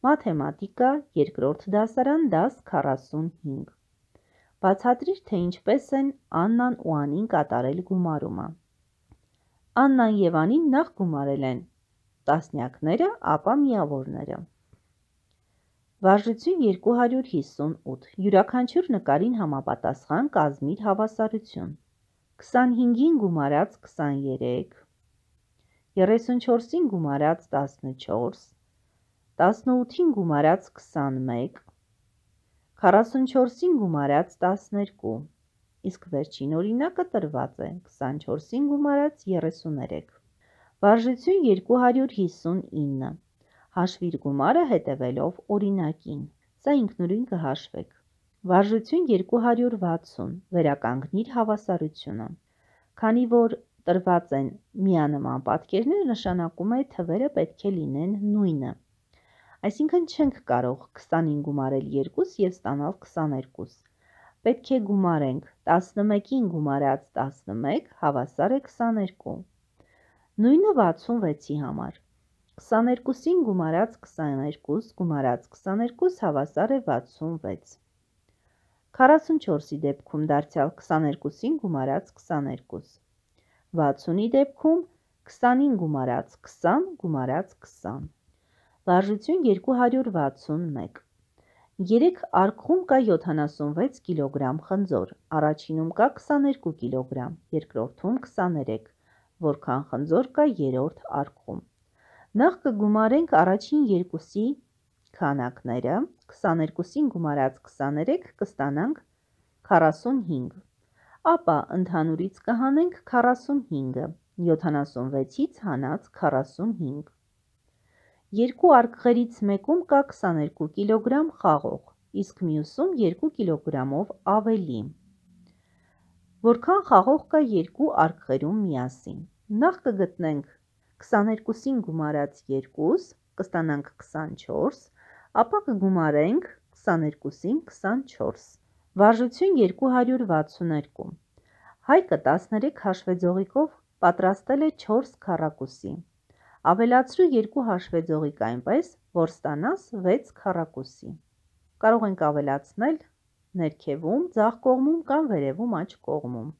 Մաթեմատիկա, երկրորդ դասարան, դաս 45։ Բացատրիր, թե ինչպես են Աննան ու Անին կատարել գումարումը։ Աննան և Անին նախ գումարել են տասնյակները, ապա միավորները։ Վարժություն 258, յուրաքանչյուր նկարին համապատասխան կազմիր հավասարություն։ 25-ին գումարած 23, 34-ին գումարած 14, 18-ին գումարած 21, 44-ին գումարած 12, իսկ վերջին օրինակը տրված է 24-ին գումարած 33։ Վարժություն 259, հաշվիր գումարը հետևելով օրինակին, սա ինքնուրույն կհաշվեք։ Վարժություն 260, վերականգնիր հավասարությունը։ Քանի որ տրված են միանման պատկերներ, նշանակում է թվերը պետք է լինեն նույնը։ Այսինքն չենք կարող 20-ին գումարել 2 և ստանալ 22։ Պետք է գումարենք 11-ին գումարած 11 հավասար է 22։ Նույնը 66-ի համար։ 22-ին գումարած 22 գումարած 22 հավասար է 66։ 44-ի դեպքում դարձյալ 22-ին գումարած 22։ 60-ի դեպքում 20-ին գումարած 20 գումարած 20։ Վարժություն 261։ Երեք արկղում կա 76 կիլոգրամ խնձոր, առաջինում կա 22 կիլոգրամ, երկրորդում 23, որքան խնձոր կա երրորդ արկղում։ Նախ կգումարենք առաջին երկուսի քանակները, 22-ին գումարած 23 կստանանք 45, ապա ընդհանուրից կհանենք 45-ը, 76-ից հանած 45։ Երկու արկղերից մեկում կա 22 կիլոգրամ խաղող, իսկ մյուսում 2 կիլոգրամով ավելի։ Որքան խաղող կա երկու արկղերում միասին։ Նախ կգտնենք 22-ին գումարած 2, կստանանք 24, ապա կգումարենք 22-ին 24։ Վարժություն 262։ Հայկը 13 հաշվեձողիկով պատրաստել է 4 քառակուսի։ Ավելացրու 2 հաշվեձողիկ այնպես, որ ստանաս 6 քառակուսի։ Կարող ենք ավելացնել ներքևում, ձախ կողմում կամ վերևում աջ կողմում։